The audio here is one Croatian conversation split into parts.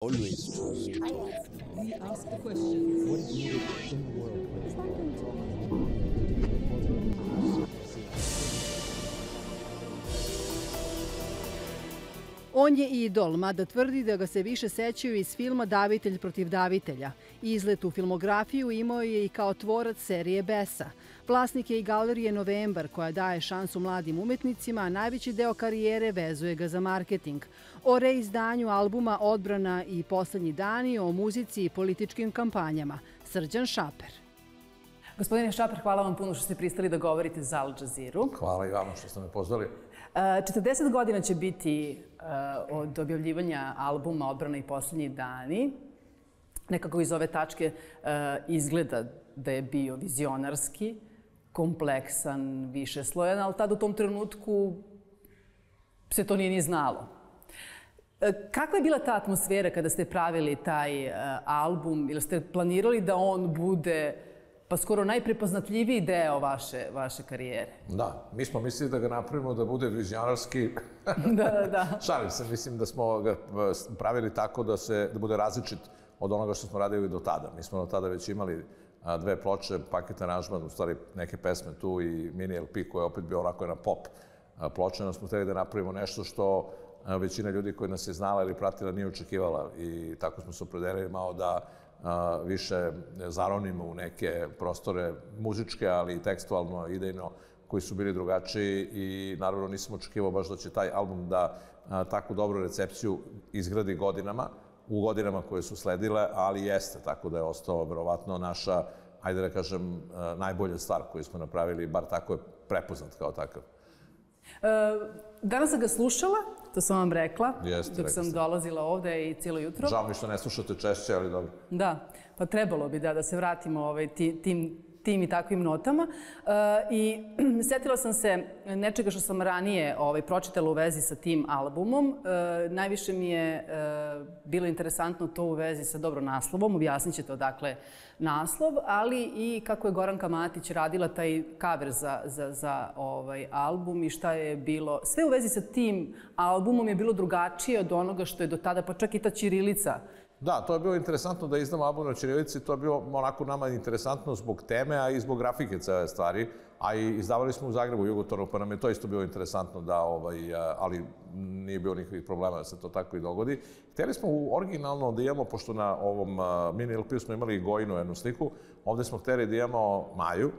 Always trust. We ask the questions. What is needed in the world? On je idol, mada tvrdi da ga se više sećaju iz filma Davitelj protiv davitelja. Izlet u filmografiju imao je i kao tvorac serije Besa. Vlasnik je i galerije Novembar, koja daje šansu mladim umetnicima, a najveći deo karijere vezuje ga za marketing. O reizdanju albuma Odbrana i Poslednji dani, o muzici i političkim kampanjama. Srđan Šaper. Gospodine Šaper, hvala vam puno što ste pristali da govorite za Al Jazeeru. Hvala i vama što ste me pozvali. 40 godina će biti od objavljivanja albuma Odbrana i Poslednji dani. Nekako iz ove tačke izgleda da je bio vizionarski, kompleksan, višeslojan, ali tad u tom trenutku se to nije ni znalo. Kakva je bila ta atmosfera kada ste pravili taj album? Ili ste planirali da on bude pa skoro najprepoznatljiviji deo vaše karijere? Da, mi smo mislili da ga napravimo da bude vizionarski. Da. Šalim se, mislim da smo ga pravili tako da bude različit od onoga što smo radili do tada. Mi smo do tada već imali dve ploče, paket aranžman, u stvari neke pesme tu i mini LP koji je opet bio onako jedna pop ploča. No smo hteli da napravimo nešto što većina ljudi koji nas je znala ili pratila nije očekivala i tako smo se opredelili malo da više zaronimo u neke prostore muzičke, ali i tekstualno, idejno, koji su bili drugačiji i naravno nisam očekivao baš da će taj album da takvu dobru recepciju izgradi godinama, u godinama koje su sledile, ali jeste, tako da je ostao verovatno naša, ajde da kažem, najbolja stvar koju smo napravili, bar tako je prepoznat kao takav. Danas sam ga slušala, to sam vam rekla, Jeste, dok sam dolazila ovde i cijelo jutro. Žao mi što ne slušate češće, ali dobro. Da, pa trebalo bi da se vratimo tim i takvim notama. I setila sam se nečega što sam ranije pročitala u vezi sa tim albumom. Najviše mi je bilo interesantno to u vezi sa dobro naslovom, objasnit ćete odakle naslov, ali i kako je Goranka Matić radila taj cover za album i šta je bilo. Sve u vezi sa tim albumom je bilo drugačije od onoga što je do tada, pa čak i ta ćirilica. Da, to je bilo interesantno da izdamo album na ćirilici, to je bilo onako nama interesantno zbog teme, a i zbog grafike cele stvari, a i izdavali smo u Zagrebu, Jugotonu, pa nam je to isto bilo interesantno da, ali nije bilo nikakvih problema da se to tako i dogodi. Hteli smo originalno da imamo, pošto na ovom mini LP-u smo imali i Gojinu jednu sliku, ovde smo hteli da imamo Maju,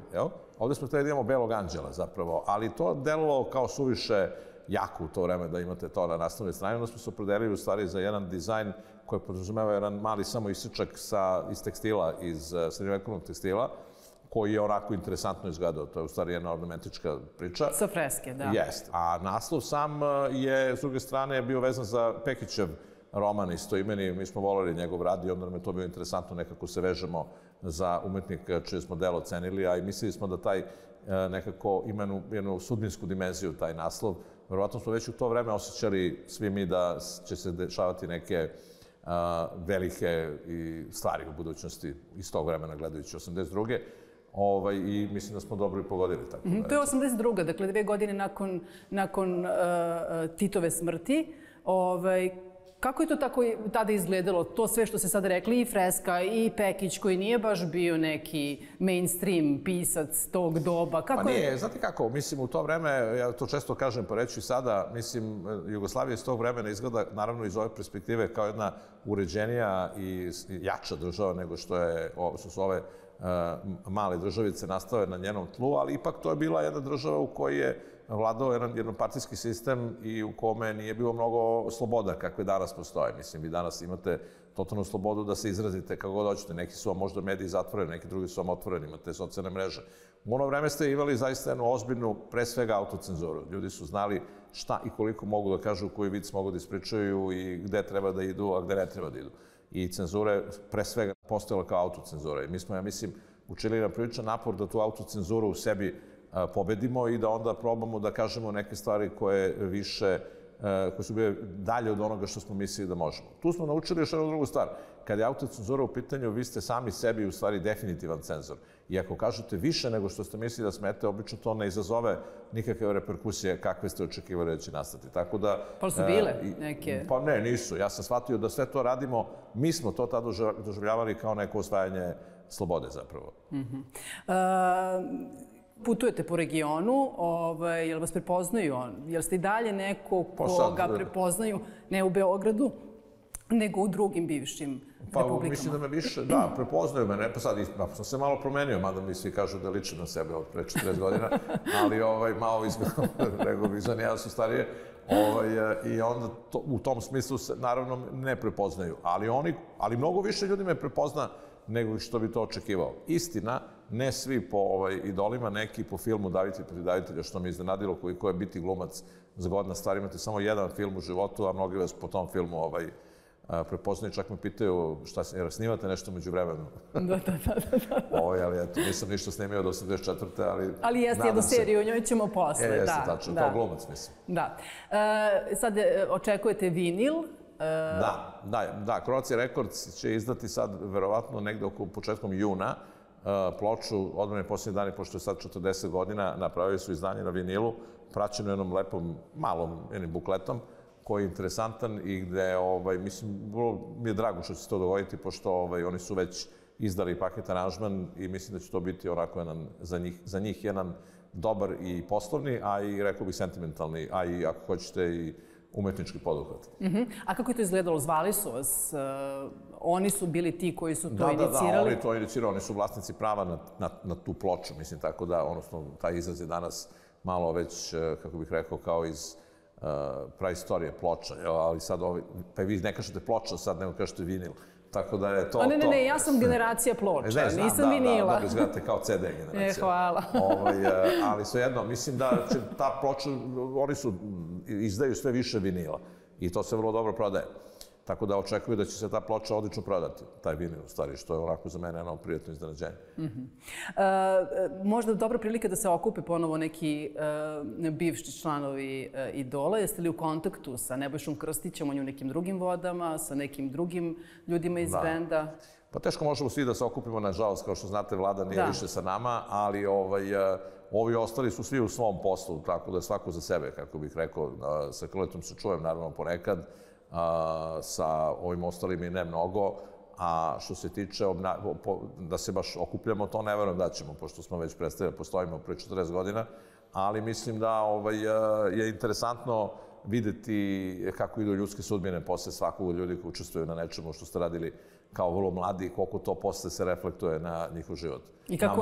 ovde smo hteli da imamo Belog anđela zapravo, ali to delovalo kao suviše jako u to vreme da imate to na naslovnoj strani, onda smo se opredelili u stvari za jedan dizajn koji podrazumeva jedan mali samo isečak iz tekstila, iz srednjovekovnog tekstila, koji je onako interesantno izgledao. To je u stvari jedna ornamentička priča. Sa freske, da. Jest. A naslov sam je, s druge strane, bio vezan za Pekićev roman istoimeni. Mi smo voleli njegov rad i onda nam je to bilo interesantno, nekako se vežemo za umetnika čije smo delo cenili, a i mislili smo da taj nekako ima jednu sudbinsku dimenziju, taj naslov. Verovatno smo već u to vreme osjećali svi mi da će se dešavati neke velike stvari u budućnosti iz tog vremena gledajući 82. I mislim da smo dobro i pogodili. To je 82. Dakle 2 godine nakon Titove smrti. Kako je to tako tada izgledalo? To sve što ste sad rekli, i freska, i Pekić, koji nije baš bio neki mainstream pisac tog doba. Pa nije, znate kako, mislim u to vreme, ja to često kažem, pa reću i sada, mislim, Jugoslavija iz tog vremena izgleda, naravno iz ove perspektive, kao jedna uređenija i jača država nego što su ove male državice nastale na njenom tlu, ali ipak to je bila jedna država u kojoj je vladao jednopartijski sistem i u kome nije bilo mnogo sloboda kakve danas postoje. Mislim, vi danas imate totalnu slobodu da se izrazite kako god hoćete. Neki su vam možda mediji zatvoreni, neki drugi su vam otvoreni, imate socijalne mreže. U ono vreme ste imali zaista jednu ozbiljnu, pre svega, autocenzuru. Ljudi su znali šta i koliko mogu da kažu, koji vic mogu da ispričaju i gde treba da idu, a gde ne treba da idu. I cenzura je pre svega postojala kao autocenzura. I mi smo, ja mislim, učili na priličan napor da tu autocenzuru u sebi pobedimo i da onda probamo da kažemo neke stvari koje više koje su bile dalje od onoga što smo mislili da možemo. Tu smo naučili još jednu drugu stvar. Kad je autocenzura u pitanju, vi ste sami sebi u stvari definitivan cenzor. I ako kažete više nego što ste mislili da smete, obično to ne izazove nikakve reperkusije kakve ste očekivali da će nastati. Tako da... Pa su bile neke? Pa ne, nisu. Ja sam shvatio da sve to radimo, mi smo to tada doživljavali kao neko osvajanje slobode zapravo. Putujete po regionu, jel vas prepoznaju? Jel ste i dalje neko koga prepoznaju, ne u Beogradu, nego u drugim bivšim republikama? Pa mislim da me više, da, prepoznaju me, pa sad sam se malo promenio, mada mi svi kažu da ličim na sebe od pre 40 godina, ali malo izgledam, nego bih za njega su starije. I onda u tom smislu se naravno ne prepoznaju, ali mnogo više ljudi me prepozna nego što bi to očekivao. Istina, ne svi po idolima, neki po filmu Davitelj protiv davitelja, što me iznenadilo koliko je biti glumac zgodna stvar. Imate samo jedan film u životu, a mnogi vas po tom filmu prepoznaju, čak me pitaju šta snimate nešto među vremenu. Da. Ali eto, nisam ništa snimio do 84. Ali jeste jednu seriju, o njoj ćemo posle. Jeste, tačno, kao glumac, mislim. Da. Sad očekujete vinil. Da, Croatia Records će izdati sad, verovatno, negde oko početkom juna, ploču Odmorni posljednji dani, pošto je sad 40 godina, napravili su izdanje na vinilu, praćeno jednom lepom, malom bukletom, koji je interesantan i gde, mislim, mi je drago što će se to dogoditi, pošto oni su već izdali paket aranžman i mislim da će to biti onako za njih jedan dobar i poslovni, a i, rekao bih, sentimentalni, a i, ako hoćete, i umetnički poduhvat. A kako je to izgledalo? Zvali su vas? Oni su bili ti koji su to inicirali? Da, oni to inicirali. Oni su vlasnici prava na tu ploču, mislim, tako da, odnosno, taj izraz je danas malo već, kako bih rekao, kao iz praistorije ploča, ali sad pa vi ne kažete ploča sad, nego kažete vinil. Tako da je to... Ne, ja sam generacija ploča, nisam vinila. Da, izgledate kao CD generacija. Hvala. Ali svejedno, mislim da će ta ploča, oni izdaju sve više vinila i to se vrlo dobro prodaje. Tako da očekuju da će se ta ploča odlično prodati, taj vinil, u stvari, što je onako za mene jedno prijatno iznenađenje. Možda dobra prilika da se okupe ponovo neki bivši članovi Idola. Jeste li u kontaktu sa Nebojšom Krstićem, on je u nekim drugim vodama, sa nekim drugim ljudima iz benda? Pa teško možemo svi da se okupimo, nažalost, kao što znate, Vlada nije više sa nama, ali ovi ostali su svi u svom poslu, tako da je svako za sebe, kako bih rekao. Sa Krletom se čujem, naravno, ponekad, sa ovim ostalim i ne mnogo, a što se tiče da se baš okupljamo, to ne verujem da ćemo, pošto smo već predstavili, postojimo pre 40 godina, ali mislim da je interesantno videti kako idu ljudske sudbine posle svakog ljudi koji učestvuju na nečemu što ste radili kao vrlo mladi i koliko to posle se reflektuje na njihov život. I kako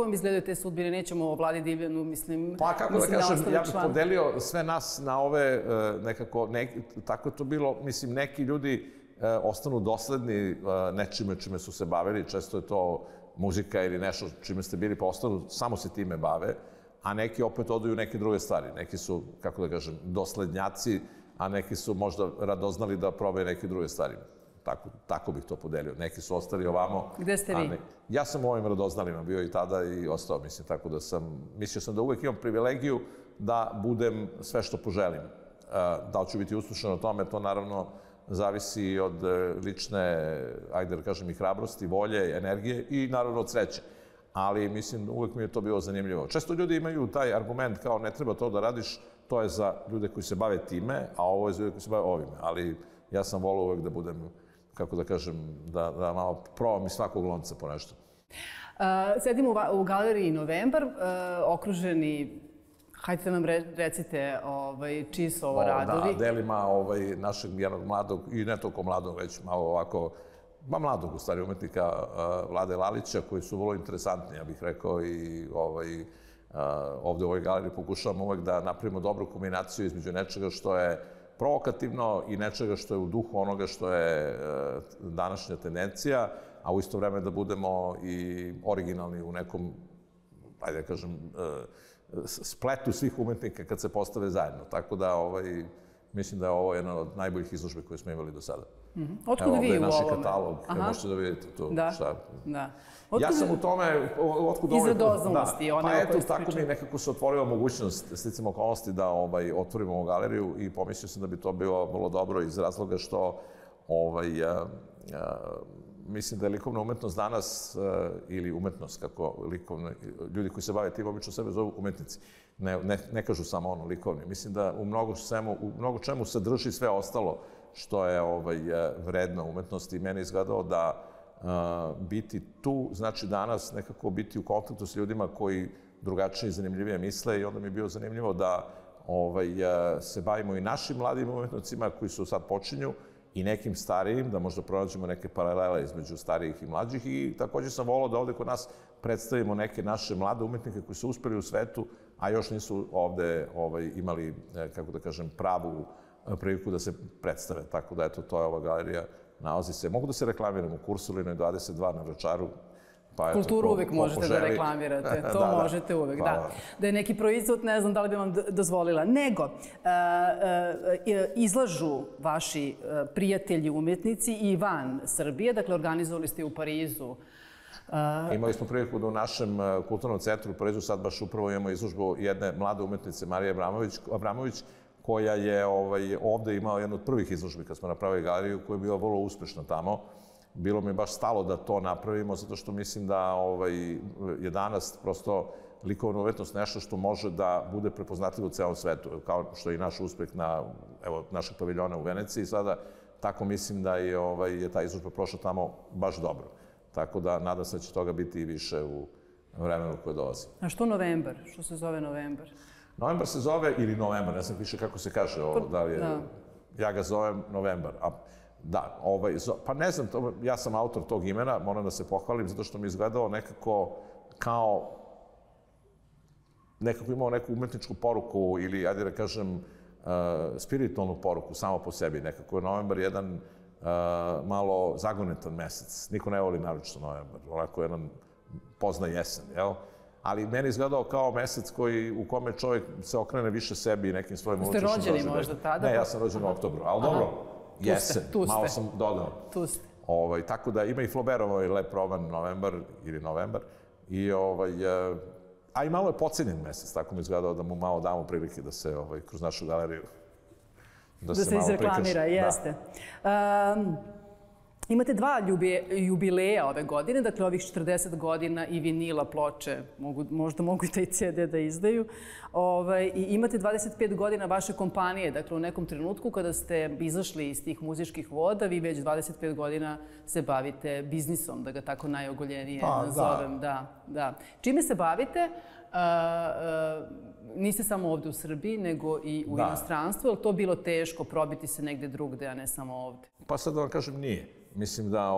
vam izgledaju te sudbine? Nećemo o Vladi Divljanu, mislim... Pa kako da kažem, ja bih podelio sve nas na ove nekako, tako je to bilo, mislim, neki ljudi ostanu dosledni nečime čime su se bavili, često je to muzika ili nešto čime ste bili, pa ostanu, samo se time bave, a neki opet odu u neke druge stvari. Neki su, kako da kažem, doslednjaci, a neki su možda radoznali da probaju neke druge stvari. Tako bih to podelio. Neki su ostali ovamo. Gde ste vi? Ja sam u ovim radoznalima bio i tada i ostao, mislim, tako da mislio sam da uvek imam privilegiju da budem sve što poželim. Da li ću biti uspešan o tome, to naravno zavisi od lične, ajde da kažem, i hrabrosti, volje, energije i naravno od sreće. Ali, mislim, uvek mi je to bilo zanimljivo. Često ljudi imaju taj argument kao ne treba to da radiš, to je za ljude koji se bave time, a ovo je za ljude koji se bave ovime. Ali ja sam volio uvek da budem, kako da kažem, da malo probam iz svakog lonca po nešto. Sedimo u galeriji Novembar, okruženi, hajde nam recite čiji su ovo radovi. Da, delima našeg jednog mladog, i ne toliko mladog, već malo ovako, mladog u stvari umetnika Vlade Lalića, koji su vrlo interesantni, ja bih rekao, i ovde u ovoj galeriji pokušavamo uvek da napravimo dobru kombinaciju između nečega što je provokativno i nečega što je u duhu onoga što je današnja tendencija, a u isto vreme da budemo i originalni u nekom, ajde da kažem, spletu svih umetnika kad se postave zajedno. Tako da Mislim da je ovo jedna od najboljih izložbe koje smo imali do sada. Otkud Evo, vi ovde je u naš ovome? katalog, možete da vidite tu šta. Da. Ja sam u tome, otkud Iz radoznalosti, one pa o kojoj eto, ste tako pričali. mi nekako se otvorila mogućnost, sticam okolnosti, da otvorimo ovu galeriju i pomislio sam da bi to bilo vrlo dobro iz razloga što mislim da je likovna umetnost danas, ili umetnost, kako ljudi koji se bave tim obično sebe zovu umetnici, ne kažu samo ono likovni. Mislim da u mnogo čemu sadrži sve ostalo što je vredno umetnosti i meni izgledao da biti tu, znači danas nekako biti u kontaktu s ljudima koji drugačije i zanimljivije misle i onda mi je bilo zanimljivo da se bavimo i našim mladim umetnicima koji su sad počinju i nekim starijim, da možda pronađemo neke paralele između starijih i mlađih i također sam volao da ovde kod nas predstavimo neke naše mlade umetnike koji su uspeli u svetu, a još nisu ovde imali, kako da kažem, pravu priliku da se predstave. Tako da, eto, to je ova galerija. Nalazi se, mogu da se reklamiram u Kursulinoj 22 na Vračaru. Kulturu uvek možete da reklamirate, to možete uvek, da. Da je neki proizvod, ne znam da li bi vam dozvolila. Nego, izlažu vaši prijatelji umetnici i van Srbije, dakle, organizovali ste u Parizu. Imali smo priliku da u našem kulturnom centru u Parizu sad baš upravo imamo izložbu jedne mlade umetnice, Marije Abramović, koja je ovde imala jednu od prvih izložbi kad smo napravili galeriju, koja je bila vrlo uspešna tamo. Bilo mi je baš stalo da to napravimo, zato što mislim da je danas prosto likovna umetnost nešto što može da bude prepoznatljivo u celom svetu, kao što je i naš uspeh našeg paviljona u Veneciji sada, tako mislim da je ta izložba prošla tamo baš dobro. Tako da nadam se da će toga biti i više u vremenu koje dolazi. A što novembar? Što se zove novembar? Novembar se zove, ili novembar, ne znam više kako se kaže ovo, da li je, ja ga zovem novembar. Da, pa ne znam, ja sam autor tog imena, moram da se pohvalim, zato što mi je izgledalo nekako kao, nekako imao neku umetničku poruku ili, ajde da kažem, spiritualnu poruku samo po sebi. Nekako je novembar jedan malo zagonetan mesec. Niko ne voli naročito novembar, onako jedan pozna jesen, jel? Ali meni izgledao kao mesec u kome čovjek se okrene više sebi i nekim svojim unutrašnjim doživljajima. Ste rođeni možda tada? Ne, ja sam rođen u oktobru, ali dobro, jesen, malo sam dodao. Tu ste. Tako da ima i Flaubertov lep roman Novembar ili Novembar. A i malo je pocenjen mesec, tako mi izgledao da mu malo damo prilike da se kroz našu galeriju da se izreklamira, jeste. Imate 2 jubileja ove godine, dakle ovih 40 godina i vinila ploče, možda mogu i taj CD da izdaju. I imate 25 godina vaše kompanije, dakle u nekom trenutku kada ste izašli iz tih muzičkih voda, vi već 25 godina se bavite biznisom, da ga tako najogoljenije nazovem. Da. Čime se bavite? Niste samo ovde u Srbiji, nego i u inostranstvu. Je li to bilo teško probiti se negde drugde, a ne samo ovde? Pa sad da vam kažem, nije. Mislim da,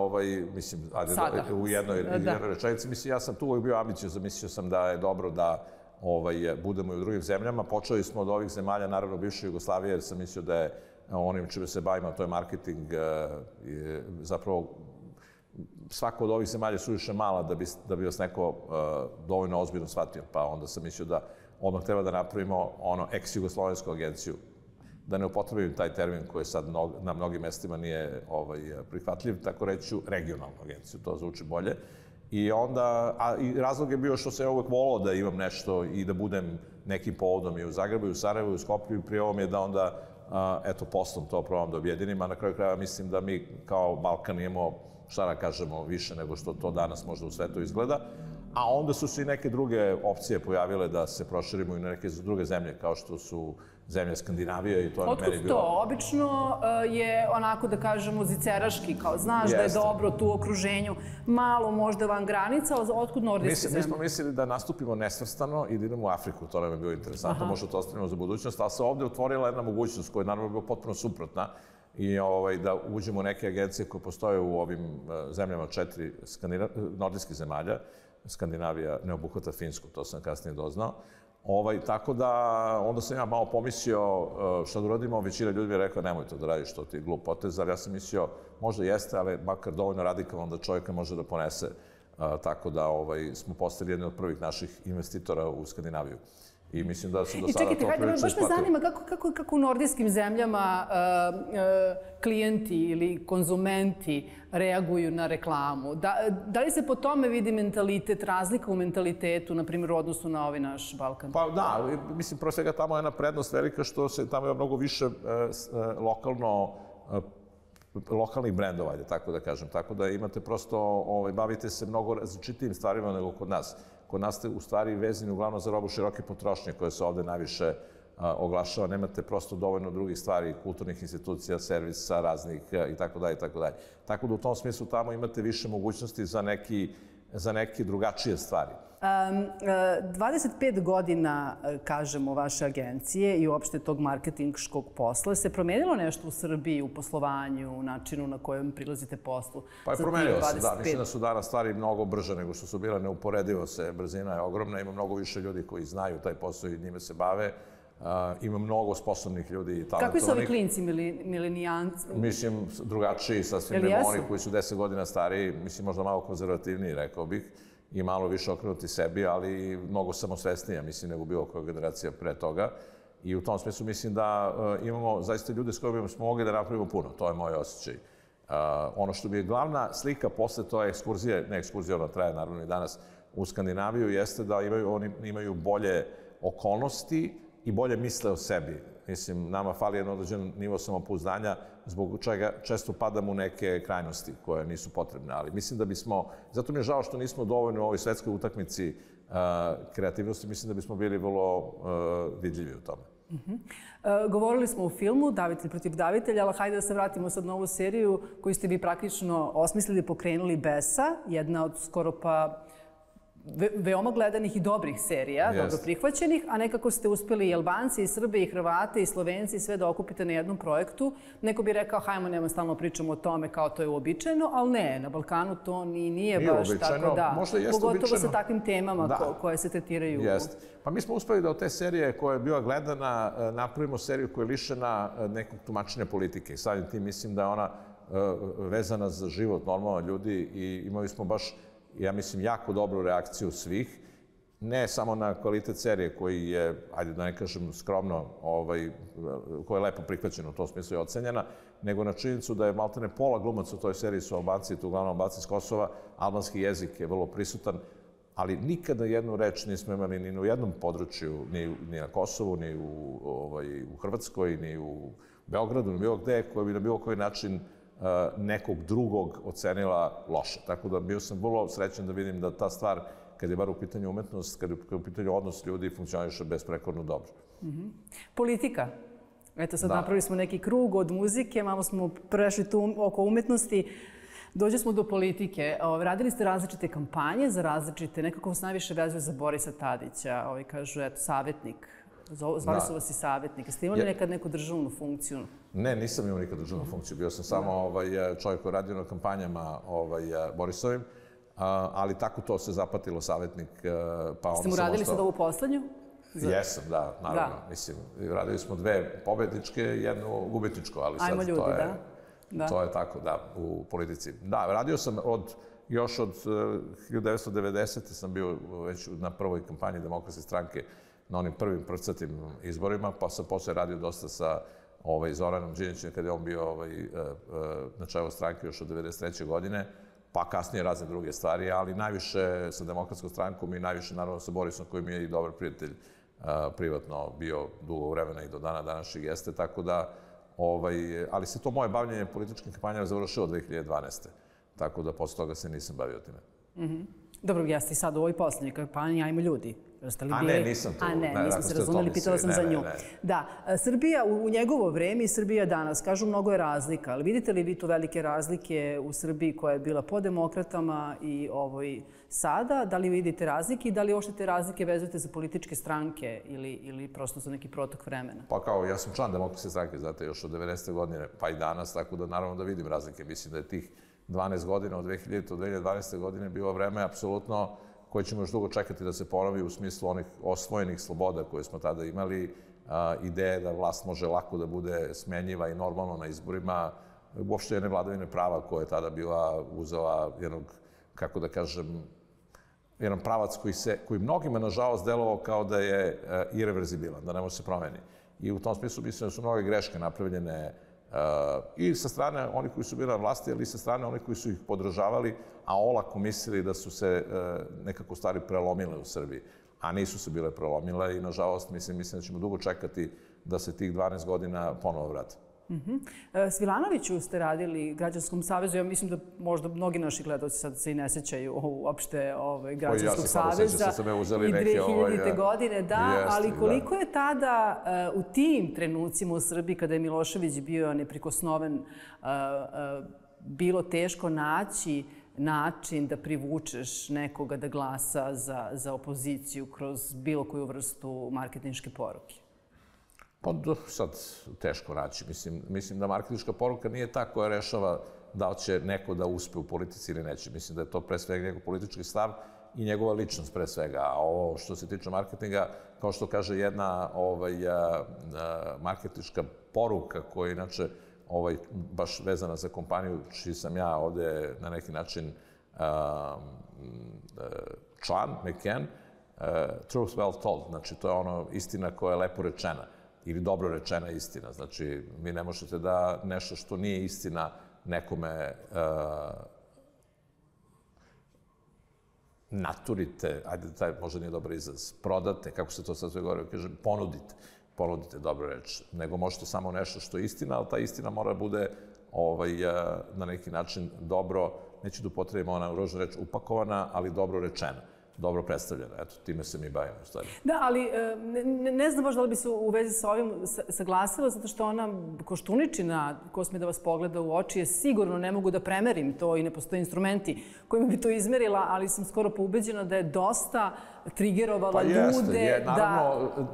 u jednoj rečenici, mislim, ja sam tu uvijek bio ambiciozan, mislio sam da je dobro da budemo i u drugim zemljama. Počeli smo od ovih zemalja, naravno bivše Jugoslavije, jer sam mislio da je onim čime se bavimo, to je marketing, zapravo svako od ovih zemalja je suviše mala da bi vas neko dovoljno ozbiljno shvatio, pa onda sam mislio da odmah treba da napravimo ex-jugoslovensku agenciju, da ne upotrebim taj termin koji sad na mnogim mestima nije prihvatljiv, tako reći ću regionalnu agenciju, to zvuči bolje. I razlog je bio što se uvek volao da imam nešto i da budem nekim povodom i u Zagrebu, i u Sarajevu, i u Skoplju, i prije ovo mi je da onda, poslom to probam da objedinim, a na kraju krajeva mislim da mi kao Balkan imamo, šta da kažemo, više nego što to danas možda u svetu izgleda. A onda su se i neke druge opcije pojavile da se proširimo i na neke druge zemlje, kao što su zemlje Skandinavije i to je na meni bilo... Otkud to? Obično je onako, da kažemo, ziceraški, kao znaš da je dobro tu u okruženju, malo možda van granica, otkud nordijske zemlje? Mi smo mislili da nastupimo nesvrstano i da idemo u Afriku, to nam je bilo interesantno, možda to ostavimo za budućnost, ali se ovde otvorila jedna mogućnost koja je naravno bila potpuno suprotna i da uđemo u neke agencije koje postoje u ovim zemljama 4 nordijskih zemalja. Skandinavija ne obuhvata Finsku, to sam kasnije doznao. Tako da, onda sam ja malo pomislio šta da uradimo, većina ljudi mi je rekla nemoj to da radiš, to ti je glup potez, ali ja sam mislio možda jeste, ali makar dovoljno radikalno da čovjeka može da ponese. Tako da smo postali jedni od prvih naših investitora u Skandinaviju. I mislim da se do I sada čekajte, to hajde, prilično baš me isplatilo. zanima kako u nordijskim zemljama klijenti ili konzumenti reaguju na reklamu. Da li se po tome vidi mentalitet, razlika u mentalitetu, na primjer, u odnosu na ovaj naš Balkan? Pa da, mislim, pro svega tamo je jedna prednost velika što se tamo je mnogo više lokalnih brendova, ajde tako da kažem. Tako da imate prosto, bavite se mnogo različitijim stvarima nego kod nas. Kod nas ste u stvari vezani uglavnom za robu široke potrošnje koje se ovde najviše oglašava. Nemate prosto dovoljno drugih stvari, kulturnih institucija, servisa raznih i tako dalje, i tako dalje. Tako da u tom smislu tamo imate više mogućnosti za neke drugačije stvari. 25 godina, kažemo, vaše agencije i uopšte tog marketinškog posla. Se promenilo nešto u Srbiji, u poslovanju, u načinu na kojem prilazite poslu? Pa je promenilo se, da. Mislim da su danas stvari mnogo brže nego što su bile. Neuporedivo se, brzina je ogromna. Ima mnogo više ljudi koji znaju taj posao i njime se bave. Ima mnogo sposobnih ljudi i talentovanih. Kakvi su ovi klinci, milenijanci? Mislim, drugačiji, sasvim nego oni koji su 10 godina stariji, mislim, možda malo konzervativniji, rekao bih, i malo više okrenuti sebi, ali mnogo samosvesnija, mislim, nego bilo koja generacija pre toga. I u tom smislu mislim da imamo zaista ljude s kojima smo mogli da napravimo puno. To je moj osjećaj. Ono što bi je glavna slika posle to je ekskurzije, ne ekskurzija, ona traje naravno i danas u Skandinaviju, jeste da oni imaju bolje okolnosti i bolje misle o sebi. Mislim, nama fali jedan određen nivo samopouzdanja, zbog čega često padamo u neke krajnosti koje nisu potrebne. Ali mislim da bismo, zato mi je žao što nismo dovoljno u ovoj svetskoj utakmici kreativnosti, mislim da bismo bili vrlo vidljivi u tome. Govorili smo o filmu Davitelj protiv davitelja, ali hajde da se vratimo sad na ovu seriju koju ste vi praktično osmislili, pokrenuli Besa, jedna od skoro pa veoma gledanih i dobrih serija, dobro prihvaćenih, a nekako ste uspeli i Albanci, i Srbe, i Hrvate, i Slovenci, sve da okupite na jednom projektu. Neko bi rekao, hajmo, nema stalno pričamo o tome kao to je uobičajeno, ali ne, na Balkanu to nije baš tako da. Pogotovo sa takvim temama koje se tretiraju. Jeste. Pa mi smo uspeli da od te serije koja je bila gledana napravimo seriju koja je lišena nekog tumačenja politike. I samim tim mislim da je ona vezana za život normalno ljudi i imali smo baš, ja mislim, jako dobru reakciju svih, ne samo na kvalitet serije koji je, ajde da ne kažem skromno, koja je lepo prihvaćena, u tom smislu je ocenjena, nego na činjenicu da je maltene pola glumaca u toj seriji su Albanci, to uglavnom Albanci iz Kosova, albanski jezik je vrlo prisutan, ali nikada jednu reč nismo imali ni u jednom području, ni na Kosovu, ni u Hrvatskoj, ni u Beogradu, ni bilo gde, koja bi na bilo koji način nekog drugog ocenila loše. Tako da bio sam vrlo srećan da vidim da ta stvar, kad je bar u pitanju umetnost, kad je u pitanju odnos ljudi, funkcioniše besprekorno dobro. Politika. Eto, sad napravili smo neki krug od muzike, malo smo prešli tu oko umetnosti. Dođe smo do politike. Radili ste različite kampanje za različite, nekako vas najviše vezuje za Borisa Tadića. Kažu, eto, savjetnik. Zvali su vas i savjetnik. Ste imali nekad neku državnu funkciju? Ne, nisam imao nikad državnu funkciju. Bio sam samo čovjek koji radio na kampanjama Borisovim, ali tako to se zapatilo, savjetnik. Ste mu radili sad ovu poslednju? Jesam, da, naravno. Mislim, radili smo 2 pobedničke i 1 gubitničko, ali sad to je tako, da, u politici. Da, radio sam još od 1990. sam bio već na prvoj kampanji Demokratske stranke, na onim prvim prcatim izborima, pa sam posle radio dosta sa Zoranom Đinđićem kada je on bio na čelu stranke još od 1993. godine, pa kasnije razne druge stvari, ali najviše sa Demokratskom strankom i najviše naravno sa Borisom koji mi je i dobar prijatelj privatno bio dugo vremena i do dana današnjeg jeste, tako da, ali se to moje bavljenje političkim kampanjama završilo 2012. Tako da posle toga se nisam bavio time. Dobro, jeste i sad u ovoj poslednjoj kampanji, ajmo ljudi. Ne, nisam to. Nismo se razumeli, pitala sam za nju. Da, Srbija u njegovo vreme i Srbija danas, kažu, mnogo je razlika, ali vidite li vi tu velike razlike u Srbiji koja je bila po demokratama i sada? Da li vidite razlike i da li uopšte te razlike vezujete za političke stranke ili prosto za neki protok vremena? Pa kao, ja sam član Demokratske stranke, znate, još od 90. godine, pa i danas, tako da naravno da vidim razlike. Mislim da je tih 12 godina od 2000. do 2012. godine bilo vreme apsolutno koje ćemo još dugo čekati da se ponovi u smislu onih osvojenih sloboda koje smo tada imali, ideje da vlast može lako da bude smenjiva i normalno na izborima, uopšte jedne vladavine prava koja je tada bila uzela jednog, kako da kažem, jedan pravac koji mnogima, nažalost, delovao kao da je irreverzibilan, da ne može se promeni. I u tom smislu mislim da su mnoge greške napravljene i sa strane onih koji su bili na vlasti, ali i sa strane onih koji su ih podržavali, a olako mislili da su se nekako stvari prelomile u Srbiji. A nisu se bile prelomile i, nažalost, mislim da ćemo dugo čekati da se tih 12 godina ponovo vrate. S Vilanoviću ste radili Građanskom savezu. Ja mislim da možda mnogi naši gledalci sad se i ne sećaju uopšte Građanskog saveza. I 2000. godine, da, ali koliko je tada u tim trenucima u Srbiji, kada je Milošević bio neprikosnoven, bilo teško naći način da privučeš nekoga da glasa za opoziciju kroz bilo koju vrstu marketinške poruke? Pa sad teško naći. Mislim da marketinška poruka nije ta koja rešava da li će neko da uspe u politici ili neće. Mislim da je to pre svega njegov politički stav i njegova ličnost pre svega. A ovo što se tiče marketinga, kao što kaže jedna marketinška poruka koja je inače baš vezana za kompaniju čiji sam ja ovde na neki način član, McCann, truth well told. Znači, to je ono istina koja je lepo rečena ili dobro rečena istina. Znači, vi ne možete da nešto što nije istina nekome naturite, ajde, taj možda nije dobar izraz, prodate, kako se to sad sve govori, kažem, ponudite dobro reč, nego možete samo nešto što je istina, ali ta istina mora da bude na neki način dobro, neću da upotrebimo ona ružna reč, upakovana, ali dobro rečena, dobro predstavljena. Eto, time se mi bavimo u stvari. Da, ali ne znam baš da li bi se u vezi sa ovim saglasila, zato što ona Koštuničina, ko sme da vas pogleda u oči, je sigurno, ne mogu da premerim to i ne postoje instrumenti kojima bi to izmerila, ali sam skoro poubeđena da je dosta trigerovala ljude.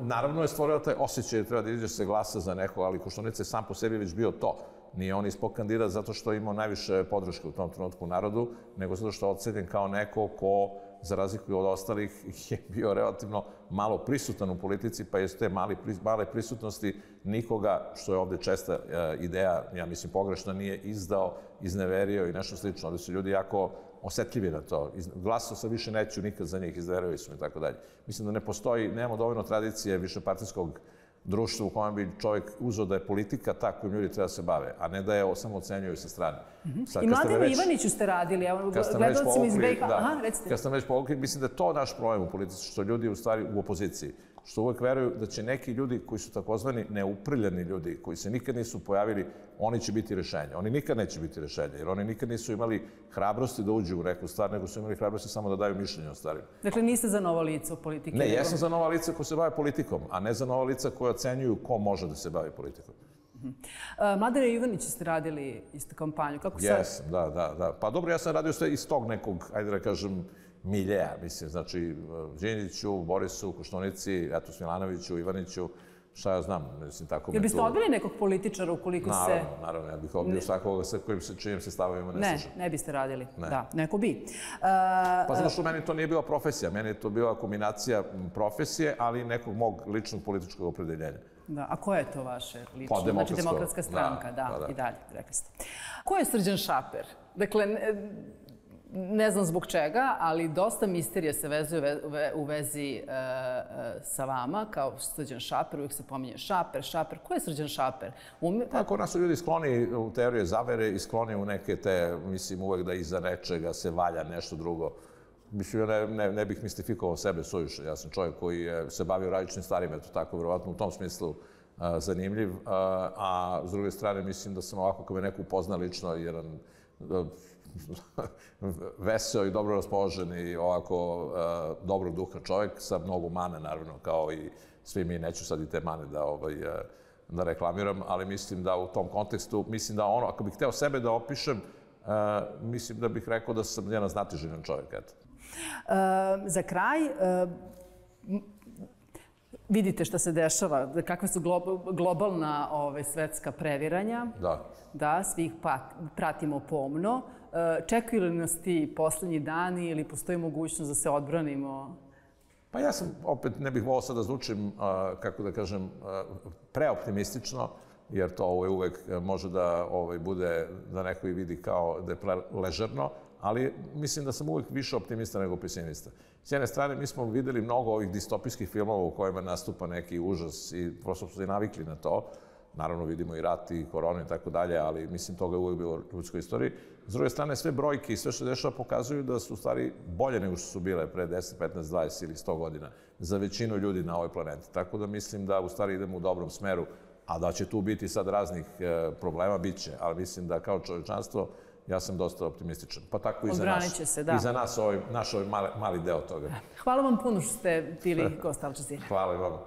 Naravno je stvorila taj osjećaj da treba da izađe se glasa za neko, ali Koštunica je sam po sebi već bio to. Nije on ispod kandidat zato što je imao najviše podrške u tom trenutku u narodu, nego zato što je ocenjen kao neko ko, za razliku od ostalih, je bio relativno malo prisutan u politici, pa je s te male prisutnosti nikoga, što je ovde česta ideja, ja mislim pogrešna, nije izdao, izneverio i nešto slično. Ovde su ljudi jako osetljivi na to. Glasao sam više neću nikad za njih, izneverio sam i tako dalje. Mislim da ne postoji, nemamo dovoljno tradicije višepartijskog društva u kojem bi čovjek uzeo da je politika ta kojim ljudi treba da se bave, a ne da je samo ocenjuju sa strane. I Mladenu Ivaniću ste radili, gledalcima iz BiH. Kad sam već povukli, mislim da je to naš problem u politici, što ljudi u stvari u opoziciji, što uvek veruju da će neki ljudi koji su takozvani neuprljani ljudi, koji se nikad nisu pojavili, oni će biti rešenje. Oni nikad neće biti rešenje, jer oni nikad nisu imali hrabrosti da uđu u neku stvar, nego su imali hrabrosti samo da daju mišljenje o stvarima. Dakle, niste za nova lica u politike? Ne, jesam za nova lica koja se bave politikom, a ne za nova lica koja ocenjuju ko može da se bavi politikom. Mladena Ivanića ste radili isto kampanju. Kako sad? Jesam, da. Pa dobro, ja sam radio sve iz tog nekog, ajde da kažem, miljeja, mislim, znači, Đinđiću, Borisu, Koštunici, eto, Smilanoviću, Ivaniću, šta ja znam, mislim, tako... Jel biste odbili nekog političara ukoliko se... Naravno, ja bih odbio svakoga sa čijim se stavovima ne slažem. Ne biste radili, da, neko bi. Pa zato što meni to nije bila profesija, meni je to bila kombinacija profesije, ali i nekog mog ličnog političkog opredeljenja. Da, a koja je to vaše lično? Znači, Demokratska stranka, da, i dalje, rekli ste. Ko je Srđan Šaper? Dakle, ne znam zbog čega, ali dosta misterija se vezuje u vezi sa vama, kao Srđan Šaper, uvijek se pominje Šaper. Ko je Srđan Šaper? Tako nas su ljudi skloni u teorije zavere i skloni u neke te, mislim, uvek da iza nečega se valja nešto drugo. Mislim, ne bih mistifikovao sebe suviše. Ja sam čovjek koji se bavio različitim stvarima, eto tako, verovatno u tom smislu zanimljiv. A s druge strane, mislim da sam ovako, kao me neko upozna lično, jedan veseo i dobro raspoložen i ovako dobrog duha čovjek sa mnogo mana, naravno, kao i svi mi. Neću sad i te mane da reklamiram, ali mislim da u tom kontekstu, mislim da ono, ako bih hteo sebe da opišem, mislim da bih rekao da sam jedan znatiželjan čovjek, eto. Za kraj, vidite šta se dešava, kakve su globalna svetska previranja. Da, svi ih pratimo pomno. Čekaju li nas ti poslednji dani ili postoji mogućnost da se odbranimo? Pa ja sam, opet, ne bih volao sad da zvučim, kako da kažem, preoptimistično. jer to uvek može da bude, da neko i vidi kao da je ležerno, ali mislim da sam uvek više optimista nego pesimista. S jedne strane, mi smo videli mnogo ovih distopijskih filmova u kojima nastupa neki užas i prosto smo se navikli na to. Naravno, vidimo i rat i koronu i tako dalje, ali mislim toga je uvek bilo u ljudskoj istoriji. S druge strane, sve brojke i sve što dešava pokazuju da su u stvari bolje nego što su bile pre 10, 15, 20 ili 100 godina za većinu ljudi na ovoj planeti. Tako da mislim da u stvari idemo u dobrom smeru, a da će tu biti sad raznih problema, bit će, ali mislim da kao čovječanstvo ja sam dosta optimističan. Pa tako i za nas, naš mali deo toga. Hvala vam puno što ste bili gost Al Jazeera. Hvala i vama.